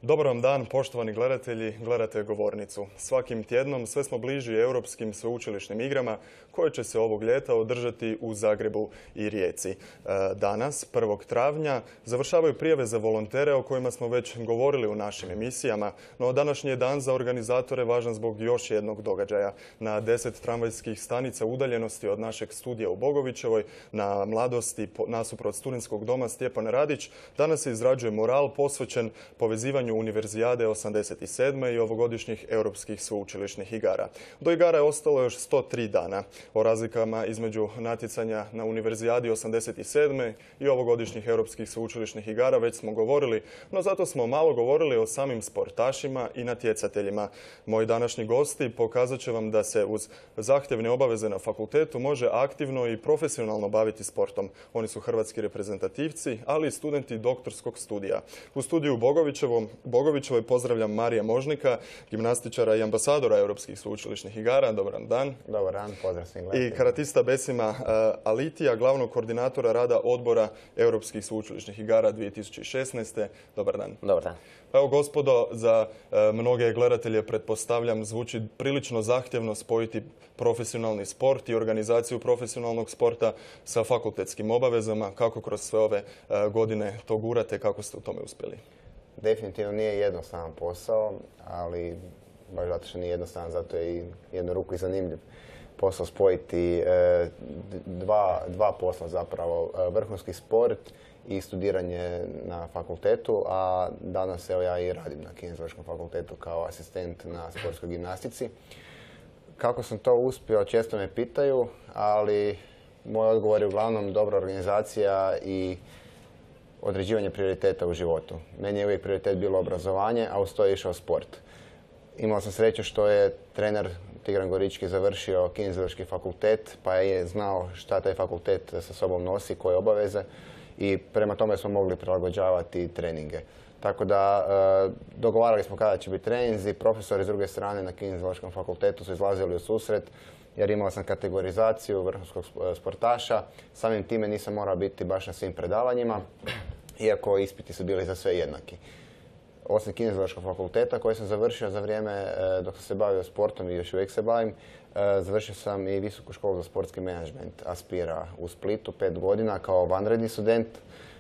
Dobar vam dan, poštovani gledatelji, gledate Govornicu. Svakim tjednom sve smo bliži europskim sveučilišnim igrama koje će se ovog ljeta održati u Zagrebu i Rijeci. Danas, 1. travnja, završavaju prijave za volontere o kojima smo već govorili u našim emisijama, no današnji je dan za organizatore važan zbog još jednog događaja. Na 10 tramvajskih stanica udaljenosti od našeg studija u Bogovićevoj, na Mladosti nasuprot Studentskog doma Stjepan Radić, danas se izrađuje mural posvećen povezivanju Univerzijade 87. i ovogodišnjih europskih sveučilišnih igara. Do igara je ostalo još 103 dana. O razlikama između natjecanja na Univerzijadi 87. i ovogodišnjih europskih sveučilišnih igara već smo govorili, no zato smo malo govorili o samim sportašima i natjecateljima. Moji današnji gosti pokazat će vam da se uz zahtjevne obaveze na fakultetu može aktivno i profesionalno baviti sportom. Oni su hrvatski reprezentativci, ali i studenti doktorskog studija. U studiju Bogovićevoj pozdravljam Marija Možnika, gimnastičara i ambasadora europskih sveučilišnih igara. Dobar dan. Dobar dan, pozdrav svim I gledateljima. karatista Besima Alitija, glavnog koordinatora rada odbora europskih sveučilišnih igara 2016. Dobar dan. Dobar dan. Evo, gospodo, za mnoge gledatelje, pretpostavljam, zvuči prilično zahtjevno spojiti profesionalni sport i organizaciju profesionalnog sporta sa fakultetskim obavezama. Kako kroz sve ove godine to gurate, kako ste u tome uspjeli? Definitivno nije jednostavan posao, ali baš zato što nije jednostavan, zato je i jednu ruku i zanimljiv posao spojiti dva posla zapravo, vrhunski sport i studiranje na fakultetu, a danas evo ja i radim na Kineziološkom fakultetu kao asistent na sportskoj gimnastici. Kako sam to uspio, često me pitaju, ali moj odgovor je uglavnom dobra organizacija i određivanje prioriteta u životu. Meni je uvijek prioritet bilo obrazovanje, a uz to je išao sport. Imao sam sreću što je trener Tigran Gorički završio Kineziološki fakultet, pa je znao šta taj fakultet sa sobom nosi, koje obaveze, i prema tome smo mogli prilagođavati treninge. Tako da dogovarali smo kada će biti treninzi. Profesori s druge strane na Kineziološkom fakultetu su izlazili u susret, jer imao sam kategorizaciju vrhunskog sportaša. Samim time nisam morao biti baš na svim predavanjima, iako ispiti su bili za sve jednaki. Osim Kineziološkog fakulteta koji sam završio za vrijeme dok sam se bavio sportom i još uvijek se bavim, završio sam i Visoku školu za sportski menadžment Aspira u Splitu 5 godina kao vanredni student.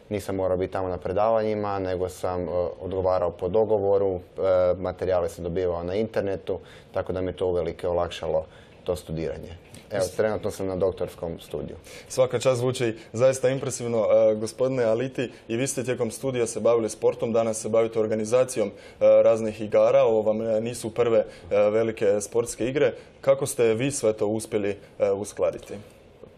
Nisam morao biti tamo na predavanjima, nego sam odgovarao po dogovoru, materijale sam dobivao na internetu, tako da mi to uvelike olakšalo to studiranje. Evo, trenutno sam na doktorskom studiju. Svaka čast, zvuči zaista impresivno. Gospodine Aliti, i vi ste tijekom studija se bavili sportom, danas se bavite organizacijom raznih igara. Ovo vam nisu prve velike sportske igre. Kako ste vi sve to uspjeli uskladiti?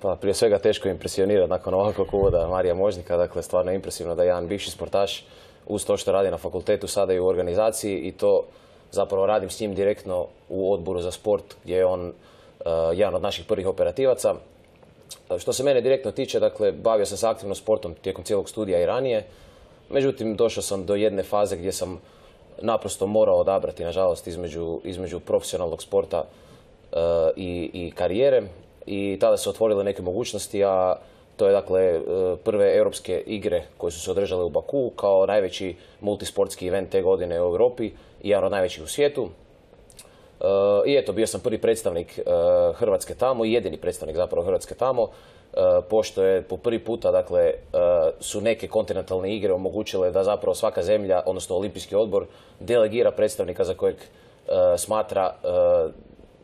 Pa, prije svega teško impresionirati nakon ovakvog uvoda Marija Možnika. Dakle, stvarno je impresivno da jedan bivši sportaš uz to što radi na fakultetu sada i u organizaciji, i to zapravo radim s njim direktno u odboru za sport gdje je on jedan od naših prvih operativaca. Što se mene direktno tiče, dakle, bavio sam se aktivno sportom tijekom cijelog studija i ranije. Međutim, došao sam do jedne faze gdje sam naprosto morao odabrati, nažalost, između profesionalnog sporta i karijere. I tada se otvorile neke mogućnosti, a to je, dakle, prve europske igre koje su se održale u Baku kao najveći multisportski event te godine u Europi i jedan od najvećih u svijetu. I eto, bio sam prvi predstavnik Hrvatske tamo i jedini predstavnik zapravo Hrvatske tamo, pošto je po prvi puta, dakle, su neke kontinentalne igre omogućile da zapravo svaka zemlja, odnosno Olimpijski odbor, delegira predstavnika za kojeg smatra,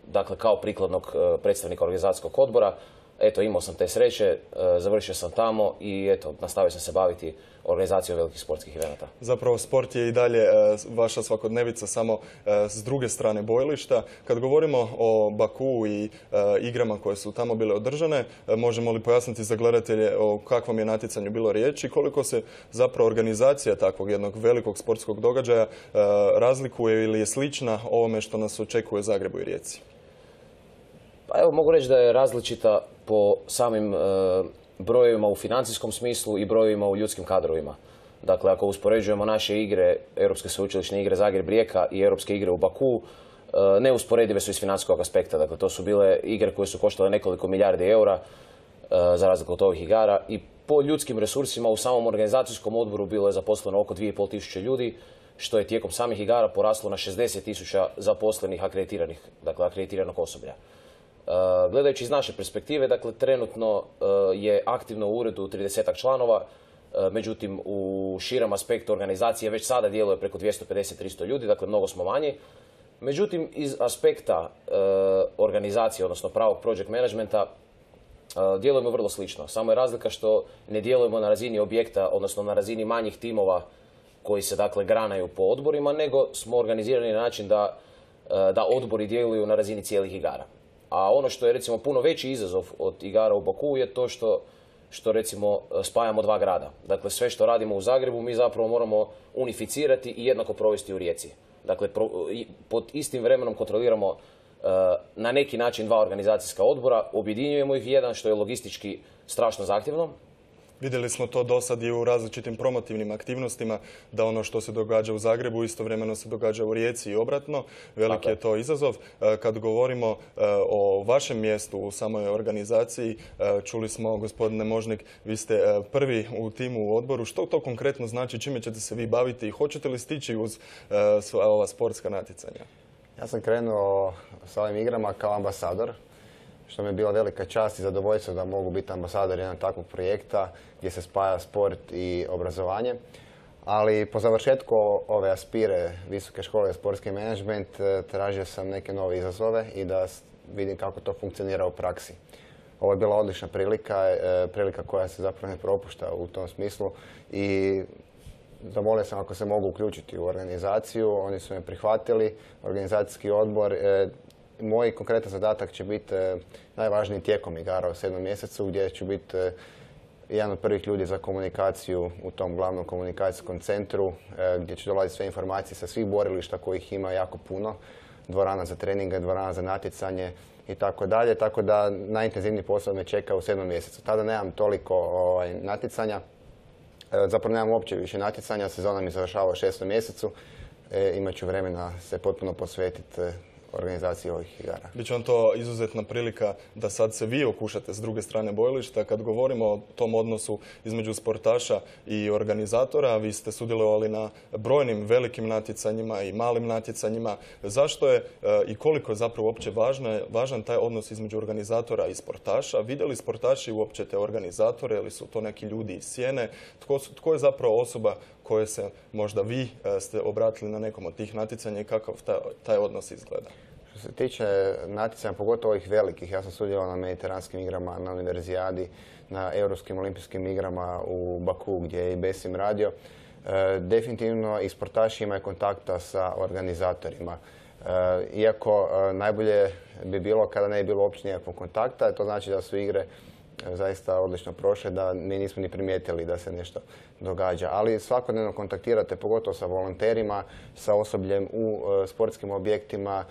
dakle, kao prikladnog predstavnika organizacijskog odbora. Eto, imao sam te sreće, završio sam tamo i eto, nastavio sam se baviti organizacijom velikih sportskih eventa. Zapravo, sport je i dalje vaša svakodnevica, samo s druge strane bojilišta. Kad govorimo o Baku i igrama koje su tamo bile održane, možemo li pojasniti za gledatelje o kakvom je natjecanju bilo riječi, koliko se zapravo organizacija takvog jednog velikog sportskog događaja razlikuje ili je slična ovome što nas očekuje u Zagrebu i Rijeci? Pa evo, mogu reći da je različita po samim brojevima u financijskom smislu i brojevima u ljudskim kadrovima. Dakle, ako uspoređujemo naše igre, europske sveučilišne igre Zagreb-Rijeka i europske igre u Baku, neusporedive su iz financijskog aspekta. Dakle, to su bile igre koje su koštale nekoliko milijardi eura, za razliku od ovih igara. I po ljudskim resursima u samom organizacijskom odboru bilo je zaposleno oko 2500 ljudi, što je tijekom samih igara poraslo na 60.000 zaposlenih akreditiranog osoblja. Gledajući iz naše perspektive, dakle, trenutno je aktivno u uredu 30 članova, međutim, u širem aspektu organizacije već sada djeluje preko 250-300 ljudi, dakle, mnogo smo manji. Međutim, iz aspekta organizacije, odnosno pravog project managementa, djelujemo vrlo slično. Samo je razlika što ne djelujemo na razini objekta, odnosno na razini manjih timova koji se, dakle, granaju po odborima, nego smo organizirani na način da odbori djeluju na razini cijelih igara. A ono što je, recimo, puno veći izazov od igara u Bakuu je to što recimo spajamo dva grada. Dakle, sve što radimo u Zagrebu mi zapravo moramo unificirati i jednako provesti u Rijeci. Dakle, pod istim vremenom kontroliramo na neki način dva organizacijska odbora, objedinjujemo ih jedan, što je logistički strašno zahtjevno. Vidjeli smo to do sad i u različitim promotivnim aktivnostima, da ono što se događa u Zagrebu istovremeno se događa u Rijeci i obratno. Veliki je to izazov. Kad govorimo o vašem mjestu u samoj organizaciji, čuli smo, gospodine Možnik, vi ste prvi u timu u odboru. Što to konkretno znači, čime ćete se vi baviti i hoćete li stići uz ova sportska natjecanja? Ja sam krenuo sa ovim igrama kao ambasador, što mi je bila velika čast i zadovoljstvo da mogu biti ambasador jednog takvog projekta gdje se spaja sport i obrazovanje. Ali po završetku ove Aspire Visoke škole za sportski menadžment tražio sam neke nove izazove i da vidim kako to funkcionira u praksi. Ovo je bila odlična prilika koja se zapravo ne propušta u tom smislu i zamolio sam ako se mogu uključiti u organizaciju. Oni su me prihvatili, organizacijski odbor. Moj konkretan zadatak će biti najvažniji tijekom igara u 7. mjesecu, gdje ću biti jedan od prvih ljudi za komunikaciju u tom glavnom komunikacijskom centru, gdje će dolaziti sve informacije sa svih borilišta kojih ima jako puno, dvorana za treninge, dvorana za natjecanje i tako dalje. Tako da najintenzivniji posao me čeka u 7. mjesecu. Tada nemam toliko natjecanja, zapravo nemam uopće više natjecanja, sezona mi završava u 6. mjesecu, imat ću vremena se potpuno posvetiti organizaciji ovih igara. Biće vam to izuzetna prilika da sad se vi okušate s druge strane bojilišta. Kad govorimo o tom odnosu između sportaša i organizatora, vi ste sudjelovali na brojnim velikim natjecanjima i malim natjecanjima. Zašto je i koliko je zapravo uopće važan taj odnos između organizatora i sportaša? Vidjeli sportaši uopće te organizatore ili su to neki ljudi iz sjene? Tko je zapravo osoba koje se možda vi ste obratili na nekom od tih natjecanja i kakav taj odnos izgleda? Što se tiče natjecanja, pogotovo ovih velikih, ja sam sudjelovao na mediteranskim igrama, na univerzijadi, na europskim olimpijskim igrama u Baku gdje je i Besim radio. Definitivno i sportaši imaju kontakta sa organizatorima. Iako najbolje bi bilo kada ne bi bilo uopće nikakvog kontakta, to znači da su igre zaista odlično prošle, da mi nismo ni primijetili da se nešto događa. Ali svakodnevno kontaktirate, pogotovo sa volonterima, sa osobljem u sportskim objektima.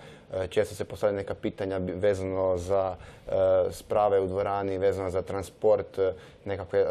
Često se postavljaju neka pitanja vezano za sprave u dvorani, vezano za transport, nekakve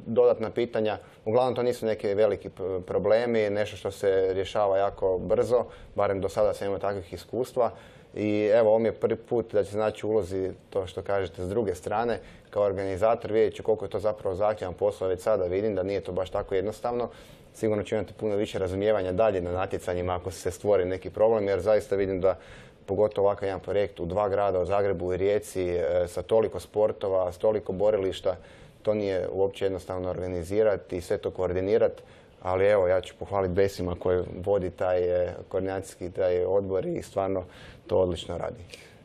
dodatna pitanja. Uglavnom to nisu neki veliki problemi, nešto što se rješava jako brzo, barem do sada sam imao takvih iskustva. I evo, ovo mi je prvi put da će znači ulozi to što kažete s druge strane. Kao organizator vidjet ću koliko je to zapravo zahtjevan posao, već sada vidim da nije to baš tako jednostavno. Sigurno ću imati puno više razumijevanja dalje na natjecanjima ako se stvori neki problem, jer zaista vidim da pogotovo ovakav jedan projekt u dva grada, u Zagrebu i Rijeci, sa toliko sportova, s toliko borilišta, to nije uopće jednostavno organizirati i sve to koordinirati. Ali evo, ja ću pohvaliti Besima koji vodi taj koordinacijski odbor i stvarno to odlično radi.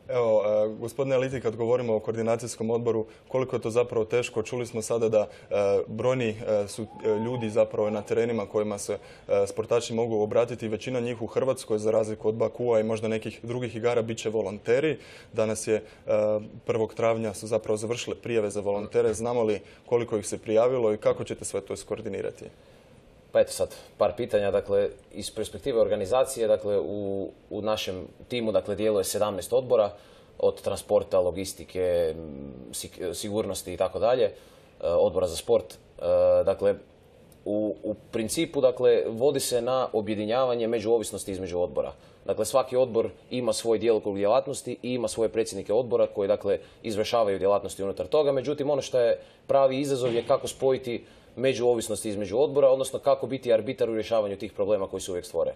Evo, gospodine Liti, kad govorimo o koordinacijskom odboru, koliko je to zapravo teško? Čuli smo sada da brojni su ljudi zapravo na terenima kojima se sportaši mogu obratiti. Većina njih u Hrvatskoj, za razliku od Bakua i možda nekih drugih igara, bit će volonteri. Danas je 1. travnja su zapravo završile prijave za volontere. Znamo li koliko ih se prijavilo i kako ćete sve to iskoordinirati? Pa eto sad, par pitanja. Dakle, iz perspektive organizacije, dakle, u našem timu, dakle, djeluje 17 odbora, od transporta, logistike, sigurnosti i tako dalje, odbora za sport. Dakle, u principu, dakle, vodi se na objedinjavanje međuovisnosti između odbora. Dakle, svaki odbor ima svoj djelokrug djelatnosti i ima svoje predsjednike odbora koji, dakle, izvršavaju djelatnosti unutar toga. Međutim, ono što je pravi izazov je kako spojiti međuovisnosti između odbora, odnosno kako biti arbitar u rješavanju tih problema koji se uvijek stvore.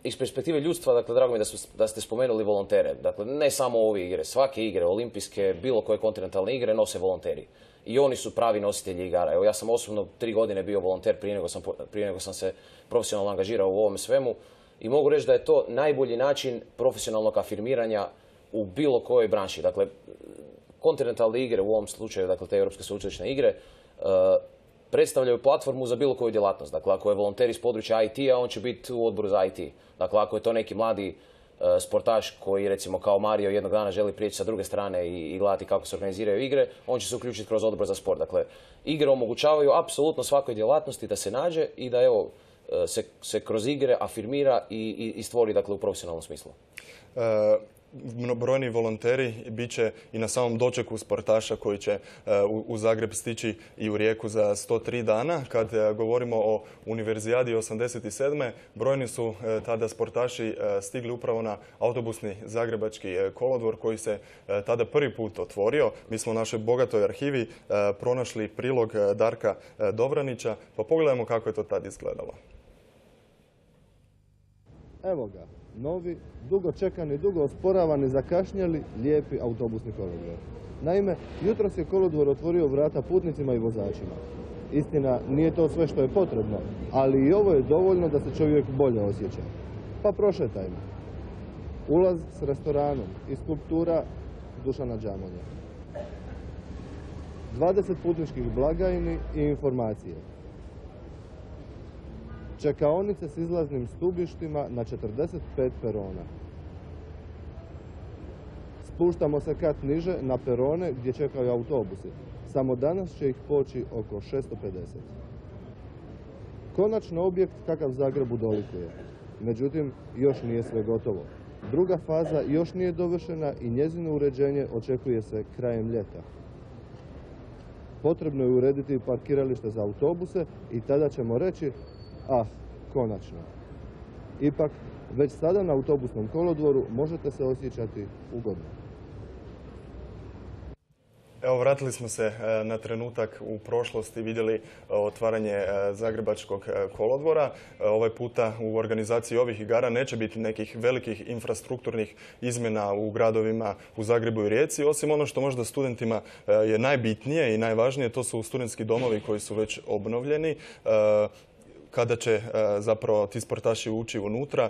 Iz perspektive ljudstva, dakle, drago mi je da ste spomenuli volontere. Dakle, ne samo ove igre, svake igre, olimpijske, bilo koje kontinentalne igre nose volonteri. I oni su pravi nositelji igara. Evo, ja sam osobno 3 godine bio volonter prije nego sam se profesionalno angažirao u ovome svemu i mogu reći da je to najbolji način profesionalnog afirmiranja u bilo kojoj branši. Dakle, kontinentalne igre, u ovom slučaju, dakle, te europske sveučilišne igre, predstavljaju platformu za bilo koju djelatnost. Dakle, ako je volonter iz područja IT-a, on će biti u odboru za IT. Dakle, ako je to neki mladi sportaš koji, recimo, kao Mario jednog dana želi prijeći sa druge strane i gledati kako se organiziraju igre, on će se uključiti kroz odbor za sport. Dakle, igre omogućavaju apsolutno svakoj djelatnosti da se nađe i da, evo, se kroz igre afirmira i stvori, dakle, u profesionalnom smislu. Brojni volonteri bit će i na samom dočeku sportaša koji će u Zagreb stići i u Rijeku za 103 dana. Kad govorimo o Univerzijadi 87. brojni su tada sportaši stigli upravo na autobusni zagrebački kolodvor koji se tada prvi put otvorio. Mi smo u našoj bogatoj arhivi pronašli prilog Darka Dobranića, pa pogledajmo kako je to tad izgledalo. Evo ga, novi, dugo čekani, dugo osporavani, zakašnjeli, lijepi autobusni kolodvor. Naime, jutros je kolodvor otvorio vrata putnicima i vozačima. Istina, nije to sve što je potrebno, ali i ovo je dovoljno da se čovjek bolje osjeća. Pa prošetajmo. Ulaz s restoranom i skulptura Dušana Đamonja. 20 putničkih blagajni i informacije. Čekaonice s izlaznim stubištima na 45 perona. Spuštamo se kat niže na perone gdje čekaju autobusi. Samo danas će ih poći oko 650. Konačno objekt kakav Zagrebu dolikuje. Međutim, još nije sve gotovo. Druga faza još nije dovršena i njezino uređenje očekuje se krajem ljeta. Potrebno je urediti parkiralište za autobuse i tada ćemo reći konačno. Ipak, već sada na autobusnom kolodvoru možete se osjećati ugodno. Evo, vratili smo se na trenutak u prošlosti, vidjeli otvaranje Zagrebačkog kolodvora. Ovaj puta u organizaciji ovih igara neće biti nekih velikih infrastrukturnih izmjena u gradovima u Zagrebu i Rijeci, osim ono što možda studentima je najbitnije i najvažnije, to su studentski domovi koji su već obnovljeni. Kada će zapravo ti sportaši ući unutra,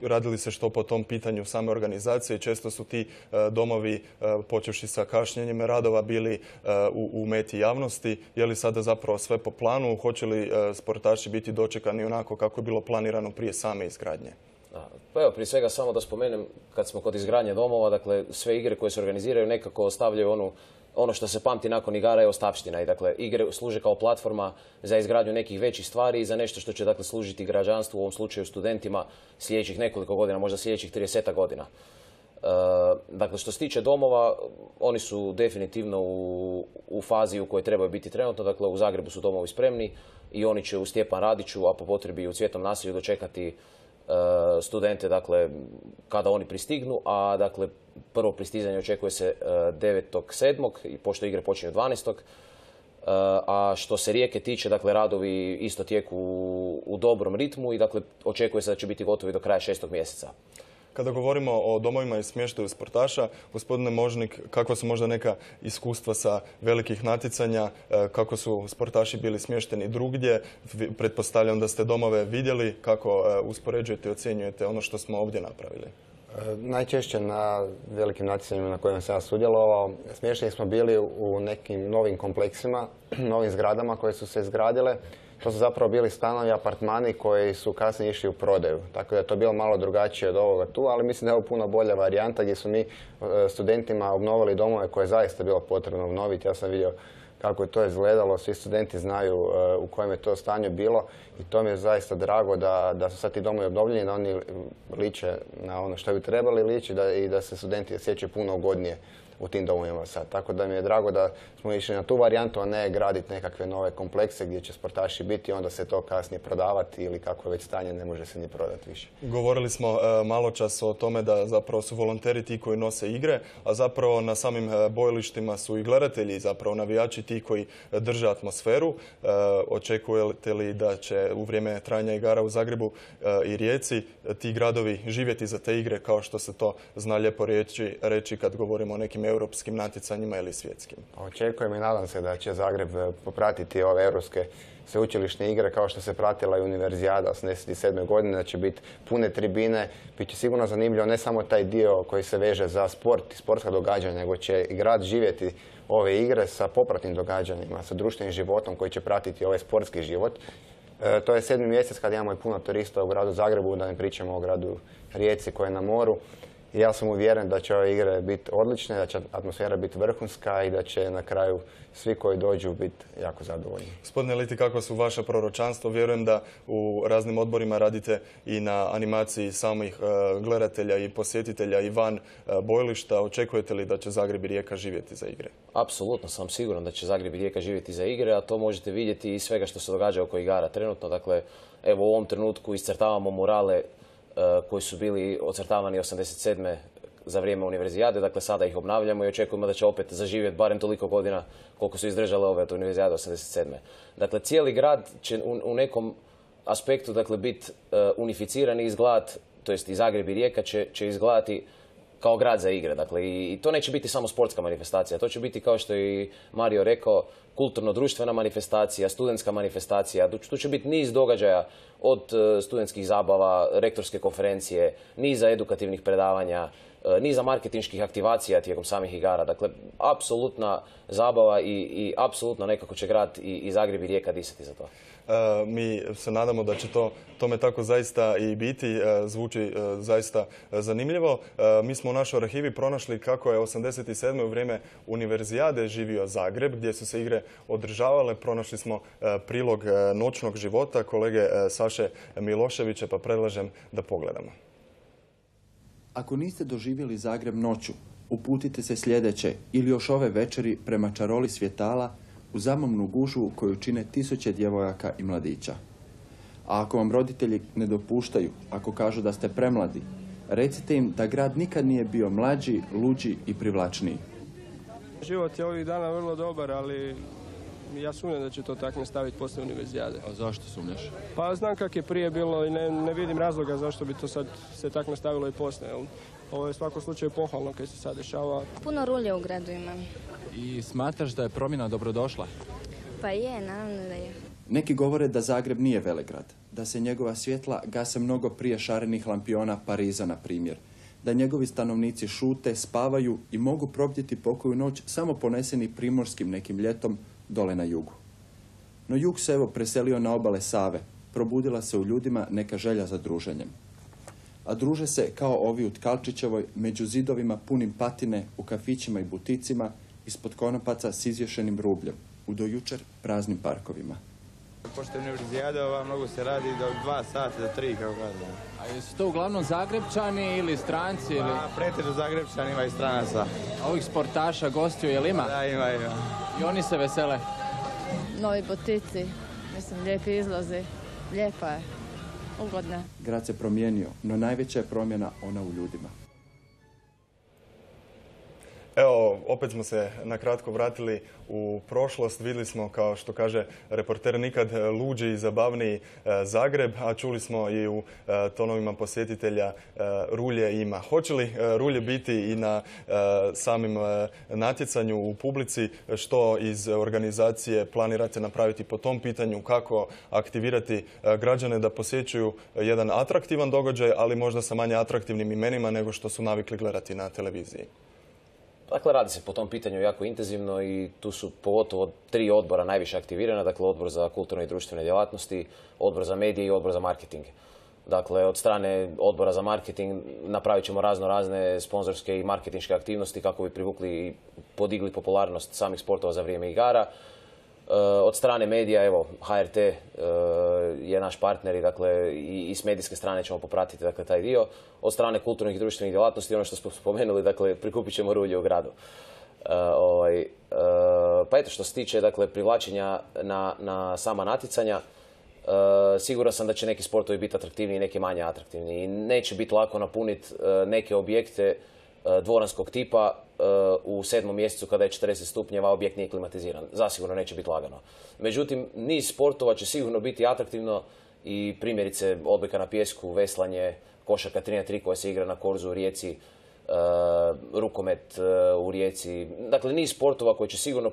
radili se što po tom pitanju same organizacije. Često su ti domovi, počevši sa kašnjenjem radova, bili u meti javnosti. Je li sada zapravo sve po planu? Hoće li sportaši biti dočekani onako kako je bilo planirano prije same izgradnje? Pa evo, prije svega samo da spomenem, kad smo kod izgradnje domova, dakle, sve igre koje se organiziraju nekako ostavljaju ono što se pamti nakon igara je ostavština. I dakle, igre služe kao platforma za izgradnju nekih većih stvari i za nešto što će, dakle, služiti građanstvu, u ovom slučaju studentima, sljedećih nekoliko godina, možda sljedećih 30 godina. Dakle, što se tiče domova, oni su definitivno u fazi u kojoj trebaju biti trenutno. Dakle, u Zagrebu su domovi spremni i oni će u Stjepan Radiću, a po potrebi i u Cvjetnom naselju dočekati studente, dakle, kada oni pristignu, a dakle, prvo pristizanje očekuje se 9.7. i pošto igre počinju 12. A što se Rijeke tiče, dakle, radovi isto tijeku u dobrom ritmu i dakle, očekuje se da će biti gotovi do kraja 6. mjeseca. Kada govorimo o domovima i smještaju sportaša, gospodine Možnik, kakva su možda neka iskustva sa velikih natjecanja, kako su sportaši bili smješteni drugdje? Pretpostavljam da ste domove vidjeli, kako uspoređujete i ocjenjujete ono što smo ovdje napravili? Najčešće na velikim natjecanjima na kojima sam ja sudjelovao, smješteni smo bili u nekim novim kompleksima, novim zgradama koje su se izgradile. To su zapravo bili stanovi, apartmani koji su kasnije išli u prodaju. Tako da je to bilo malo drugačije od ovoga tu, ali mislim da je ovo puno bolja varijanta gdje su mi studentima obnovili domove koje je zaista bilo potrebno obnoviti. Ja sam vidio kako je to izgledalo, svi studenti znaju u kojem je to stanju bilo i to mi je zaista drago da su sad ti domovi obnovljeni, da oni liče na ono što bi trebali liči i da se studenti osjećaju puno ugodnije u tim domovima sad. Tako da mi je drago da smo išli na tu varijantu, a ne graditi nekakve nove komplekse gdje će sportaši biti i onda se to kasnije prodavati ili kako je već stanje ne može se ni prodati više. Govorili smo malo čas o tome da zapravo su volonteri ti koji nose igre, a zapravo na samim bojilištima su i gledatelji, zapravo navijači ti koji drže atmosferu. Očekujete li da će u vrijeme trajanja igara u Zagrebu i Rijeci ti gradovi živjeti za te igre kao što se to zna lijepo reći kad govorimo o nekim europskim natjecanjima ili svjetskim? Očekujem i nadam se da će Zagreb popratiti ove europske sveučilišne igre kao što se pratila i Univerzijada 1987. godine, da će biti pune tribine. Biće sigurno zanimljivo ne samo taj dio koji se veže za sport i sportska događanja, nego će i grad živjeti ove igre sa popratnim događanjima, sa društvenim životom koji će pratiti ovaj sportski život. To je 7. mjesec kad imamo i puno turista u gradu Zagrebu, da ne pričamo o gradu Rijeci koji je na moru. I ja sam uvjeren da će ove igre biti odlične, da će atmosfera biti vrhunska i da će na kraju svi koji dođu biti jako zadovoljni. Gospodine Liti, kako su vaše proročanstvo? Vjerujem da u raznim odborima radite i na animaciji samih gledatelja i posjetitelja i van bojilišta. Očekujete li da će Zagreb i Rijeka živjeti za igre? Apsolutno sam siguran da će Zagreb i Rijeka živjeti za igre, a to možete vidjeti iz svega što se događa oko igara trenutno. Dakle, evo u ovom trenutku iscrtavamo murale koji su bili ocrtavani 1987. za vrijeme Univerzijade, dakle sada ih obnavljamo i očekujemo da će opet zaživjeti barem toliko godina koliko su izdržale ove od Univerzijade 1987. Dakle, cijeli grad će u nekom aspektu dakle, biti unificiran i izgledat, to jest i Zagreb i Rijeka će izgledati kao grad za igre. Dakle, i to neće biti samo sportska manifestacija, to će biti, kao što je i Mario rekao, kulturno-društvena manifestacija, studentska manifestacija. Tu će biti niz događaja od studentskih zabava, rektorske konferencije, niza edukativnih predavanja, niza marketinških aktivacija tijekom samih igara. Dakle, apsolutna zabava i apsolutno nekako će grad i Zagreb i Rijeka disati za to. Mi se nadamo da će tome tako zaista i biti. Zvuči zaista zanimljivo. Mi smo u našoj arhivi pronašli kako je 1987. u vrijeme Univerzijade živio Zagreb, gdje su se igre održavale. Pronašli smo prilog noćnog života kolege Saše Miloševića, pa predlažem da pogledamo. Ako niste doživjeli Zagreb noću, uputite se sljedeće ili još ove večeri prema čaroli svjetala u zamomnu gužvu koju čine tisuće djevojaka i mladića. A ako vam roditelji ne dopuštaju, ako kažu da ste premladi, recite im da grad nikad nije bio mlađi, luđi i privlačniji. Život je ovih dana vrlo dobar, ali ja sumnjam da će to tako nastaviti poslije Univerzijade. A zašto sumnjaš? Pa znam kak je prije bilo i ne vidim razloga zašto bi to sad se tako nastavilo i poslije. Ovo je u svakom slučaju pohvalno kad se sad dešava. Puno rulje u gradu ima. I smatraš da je promjena dobrodošla? Pa je, naravno da je. Neki govore da Zagreb nije velegrad, da se njegova svjetla gase mnogo prije šarenih lampiona Pariza, na primjer, da njegovi stanovnici šute, spavaju i mogu probdjeti pokoju noć samo poneseni primorskim nekim ljetom dole na jugu. No jug se evo preselio na obale Save, probudila se u ljudima neka želja za druženjem. A druže se kao ovi u Tkalčićevoj, među zidovima punim patine, u kafićima i buticima, ispod konopaca s izješenim rubljem, u do jučer praznim parkovima. Pošto je Univerzijada, mnogo se radi do 2 sata, do 3, kako kažem. A jesu to uglavnom Zagrebčani ili stranci? Ili... Pa, pretežno Zagrebčani, ima i stranaca. A ovih sportaša, gostiju, jel ima? Da, ima. I oni se vesele? Novi butici, mislim, lijepi izlazi. Lijepa je, ugodna. Grad se promijenio, no najveća je promjena ona u ljudima. Evo, opet smo se na kratko vratili u prošlost. Vidjeli smo, kao što kaže reporter, nikad luđi i zabavniji Zagreb, a čuli smo i u tonovima posjetitelja rulje ima. Hoće li rulje biti i na samim natjecanju u publici? Što iz organizacije planirate napraviti po tom pitanju? Kako aktivirati građane da posjećuju jedan atraktivan događaj, ali možda sa manje atraktivnim imenima nego što su navikli gledati na televiziji? Dakle, radi se po tom pitanju jako intenzivno i tu su pogotovo 3 odbora najviše aktivirana. Dakle, odbor za kulturne i društvene djelatnosti, odbor za medije i odbor za marketing. Dakle, od strane odbora za marketing napravit ćemo razne sponzorske i marketinške aktivnosti kako bi privukli i podigli popularnost samih sportova za vrijeme igara. Od strane medija, evo, HRT je naš partner i dakle i s medijske strane ćemo popratiti dakle taj dio. Od strane kulturnih i društvenih djelatnosti, ono što smo spomenuli, dakle prikupit ćemo rulje u gradu. Pa eto, što se tiče dakle privlačenja na sama natjecanja, siguran sam da će neki sportovi biti atraktivniji i neki manje atraktivni. I neće biti lako napuniti neke objekte dvoranskog tipa u 7. mjesecu kada je 40 stupnjeva, objekt nije klimatiziran. Zasigurno neće biti lagano. Međutim, niz sportova će sigurno biti atraktivno i primjerice odbojka na pijesku, veslanje, košarka 3x3 koja se igra na Korzu u Rijeci, rukomet u Rijeci. Dakle, niz sportova koji će sigurno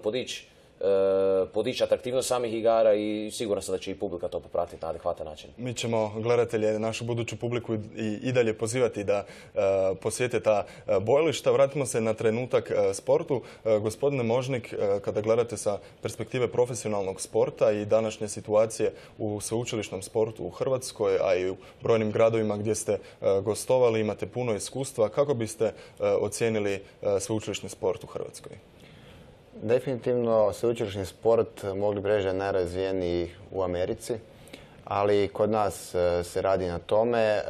podići atraktivnost samih igara i siguran sam da će i publika to popratiti na adekvatan način. Mi ćemo gledatelje, našu buduću publiku i dalje pozivati da posjete ta bojališta. Vratimo se na trenutak sportu. Gospodine Možnik, kada gledate sa perspektive profesionalnog sporta i današnje situacije u sveučilišnom sportu u Hrvatskoj, a i u brojnim gradovima gdje ste gostovali, imate puno iskustva, kako biste ocijenili sveučilišni sport u Hrvatskoj? Definitivno sveučilišni sport mogli bi reći da je najrazvijeniji u Americi, ali kod nas se radi na tome,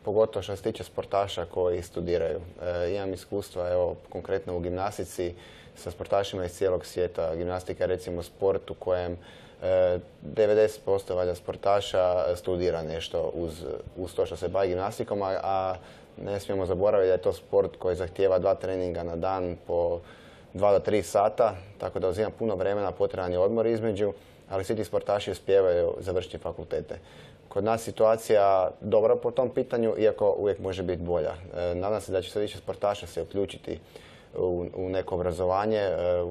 pogotovo što se tiče sportaša koji studiraju. Imam iskustva, evo, konkretno u gimnastici sa sportašima iz cijelog svijeta. Gimnastika je recimo sport u kojem 90% valjda sportaša studira nešto uz to što se bavi gimnastikom, a ne smijemo zaboraviti da je to sport koji zahtijeva 2 treninga na dan po 2 do 3 sata, tako da uzima puno vremena, potreban je odmor između, ali svi ti sportaši uspijevaju završiti fakultete. Kod nas situacija dobra po tom pitanju, iako uvijek može biti bolja. Nadam se da će sve više sportaša se uključiti u neko obrazovanje,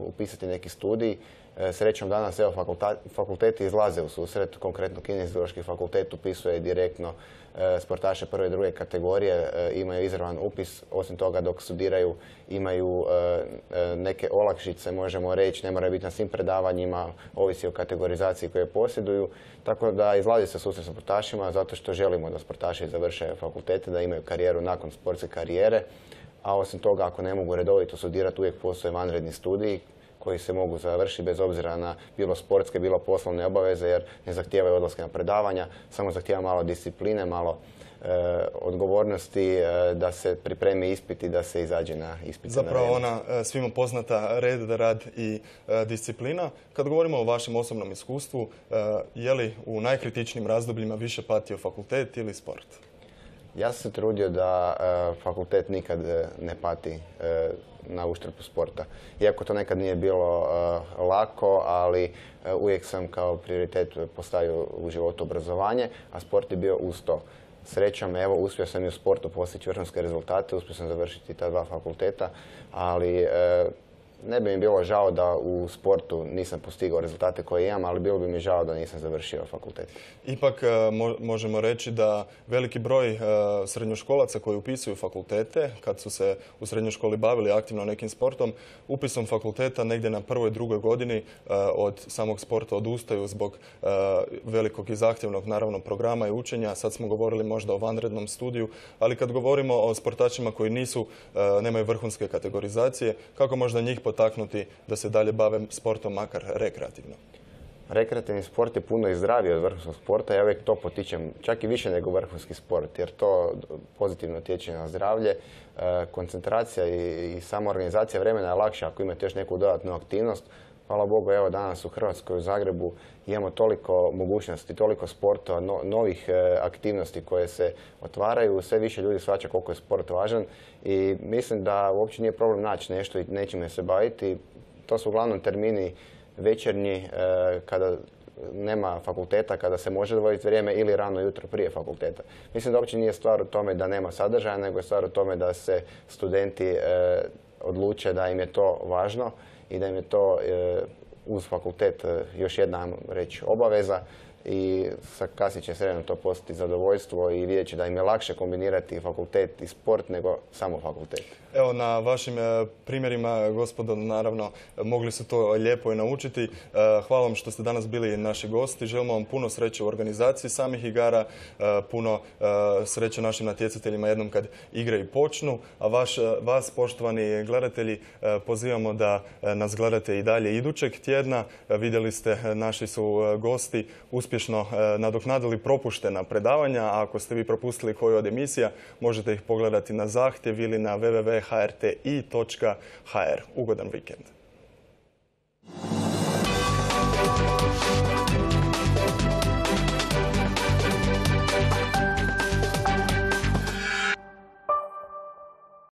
upisati neki studij. Srećom danas evo, fakulteti izlaze u susret, konkretno Kineziološki fakultet upisuje direktno sportaše prve i druge kategorije, imaju izravan upis, osim toga dok studiraju imaju neke olakšice, možemo reći, ne moraju biti na svim predavanjima, ovisi o kategorizaciji koje posjeduju, tako da izlazi se susret sa sportašima zato što želimo da sportaši završe fakultete, da imaju karijeru nakon sportske karijere, a osim toga ako ne mogu redovito studirati uvijek postoje vanredni studiji koji se mogu završiti bez obzira na bilo sportske, bilo poslovne obaveze jer ne zahtijevaju odlaske na predavanja, samo zahtijeva malo discipline, malo odgovornosti da se pripremi ispit i da se izađe na ispit. Zapravo ona svima poznata red, rad i disciplina. Kad govorimo o vašem osobnom iskustvu, je li u najkritičnijim razdobljima više patio fakultet ili sport? Ja sam se trudio da fakultet nikad ne pati na uštrbu sporta. Iako to nekad nije bilo lako, ali uvijek sam kao prioritet postavio u životu obrazovanje, a sport je bio uz to. Srećom, evo, uspio sam i u sportu postići vrhunske rezultate, uspio sam završiti ta 2 fakulteta, ali ne bi mi bilo žao da u sportu nisam postigao rezultate koje imam, ali bilo bi mi žao da nisam završio fakultet. Ipak možemo reći da veliki broj srednjoškolaca koji upisuju fakultete, kad su se u srednjoj školi bavili aktivno nekim sportom, upisom fakulteta negdje na 1. i 2. godini od samog sporta odustaju zbog velikog i zahtjevnog naravno programa i učenja. Sad smo govorili možda o vanrednom studiju, ali kad govorimo o sportačima koji nemaju vrhunske kategorizacije, kako možda njih potaknuti da se dalje bave sportom, makar rekreativno? Rekreativni sport je puno i zdraviji od vrhunskog sporta. Ja uvijek to potičem, čak i više nego vrhunski sport, jer to pozitivno utječe na zdravlje. Koncentracija i sama organizacija vremena je lakša ako imate još neku dodatnu aktivnost. Hvala Bogu, evo danas u Hrvatskoj, u Zagrebu, imamo toliko mogućnosti, toliko sportova, novih aktivnosti koje se otvaraju. Sve više ljudi shvaća koliko je sport važan i mislim da uopće nije problem naći nešto i nečime se baviti. To su uglavnom termini večernji kada nema fakulteta, kada se može odvojiti vrijeme ili rano jutro prije fakulteta. Mislim da uopće nije stvar u tome da nema sadržaja, nego je stvar u tome da se studenti odluče da im je to važno i da im je to uz fakultet još jedna reći obaveza. i kasnije će sredno to postati zadovoljstvo i vidjet će da im je lakše kombinirati fakultet i sport nego samo fakultet. Evo, na vašim primjerima, gospodo, naravno, mogli su to lijepo i naučiti. Hvala vam što ste danas bili naši gosti. Želimo vam puno sreće u organizaciji samih igara, puno sreće našim natjecateljima jednom kad igre i počnu. A vas, poštovani gledatelji, pozivamo da nas gledate i dalje idućeg tjedna. Vidjeli ste, naši su gosti uspješno nadoknadili propuštena predavanja, a ako ste vi propustili koju od emisija, možete ih pogledati na zahtjev ili na www.hrti.hr. Ugodan vikend.